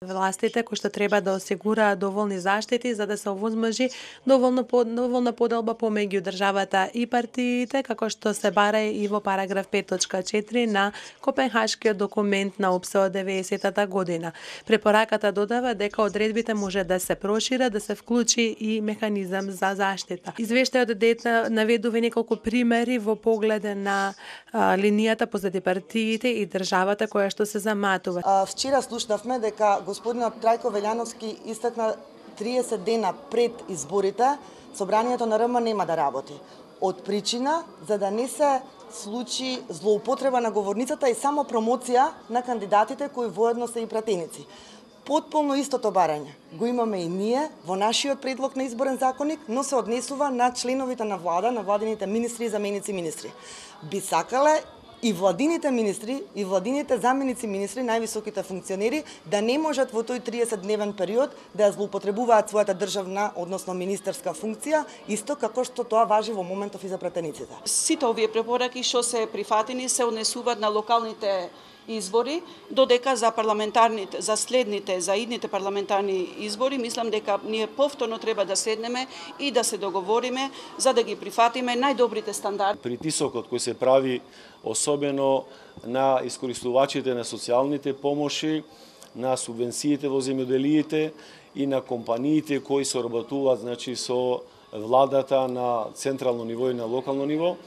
Властите кои што треба да осигураат доволни заштити за да се овозможи доволна поделба помеѓу државата и партиите, како што се бара и во параграф 5.4 на Копенхашкиот документ на ОПСЕ од 90-та година. Препораката додава дека одредбите може да се прошират, да се вклучи и механизам за заштита. Извештајот наведува неколку примери во погледе на линијата позади партиите и државата која што се заматува. Вчера слушнавме дека господинот Трајко Велјановски истакна 30 дена пред изборите, собранието на РМ нема да работи. Од причина за да не се случи злоупотреба на говорницата и само промоција на кандидатите кои воедно се и пратеници. Потполно истото барање го имаме и ние во нашиот предлог на изборен законник, но се однесува на членовите на влада, на владините министри и заменици министри. Би сакале и владините министри, и владините заменици министри, највисоките функционери, да не можат во тој 30-дневен период да ја злоупотребуваат својата државна, односно министерска функција, исто како што тоа важи во моментов и за пратениците. Сите овие препораки што се прифатени се однесуваат на локалните избори, додека за парламентарните, за следните, за идните парламентарни избори, мислам дека ние повторно треба да седнеме и да се договориме за да ги прифатиме најдобрите стандарди. Притисокот кој се прави особено на искористувачите на социјалните помоши, на субвенциите во земјоделиите и на компаниите кои соработуваат со владата на централно ниво и на локално ниво.